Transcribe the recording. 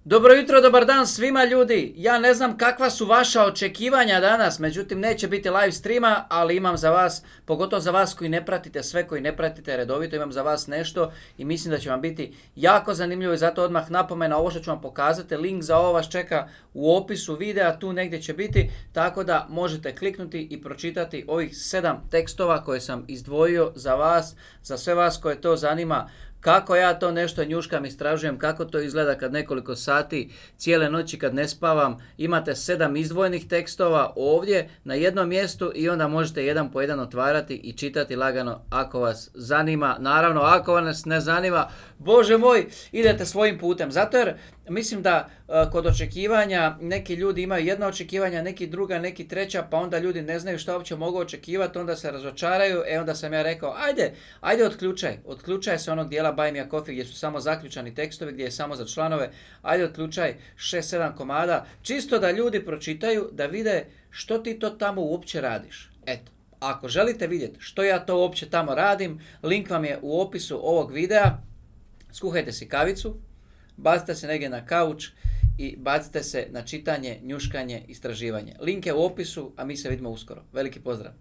Dobro jutro, dobar dan svima ljudi. Ja ne znam kakva su vaša očekivanja danas, međutim neće biti live streama, ali imam za vas, pogotovo za vas koji ne pratite sve, koji ne pratite redovito, imam za vas nešto i mislim da će vam biti jako zanimljivo i zato odmah napomena, ovo što ću vam pokazati, link za ovo vas čeka u opisu videa, tu negdje će biti, tako da možete kliknuti i pročitati ovih 7 tekstova koje sam izdvojio za vas, za sve vas koje to zanima. Kako ja to nešto njuškam, istražujem, kako to izgleda kad nekoliko sati, cijele noći kad ne spavam, imate 7 izdvojenih tekstova ovdje na jednom mjestu i onda možete jedan po jedan otvarati i čitati lagano ako vas zanima. Naravno, ako vas ne zanima, Bože moj, idete svojim putem. Zato jer mislim da kod očekivanja neki ljudi imaju jedna očekivanja, neki druga, neki treća, pa onda ljudi ne znaju šta uopće mogu očekivati, onda se razočaraju, onda sam ja rekao, ajde otključaj se onog dijela Buy Me a Coffee gdje su samo zaključani tekstovi, gdje je samo za članove, ajde otključaj 6-7 komada, čisto da ljudi pročitaju, da vide što ti to tamo uopće radiš. Eto, ako želite vidjeti što ja to uopće tamo radim, link vam je u opisu ovog videa, skuhajte si kavicu, bacite se negdje na kauč i bacite se na čitanje, njuškanje, istraživanje. Link je u opisu, a mi se vidimo uskoro. Veliki pozdrav!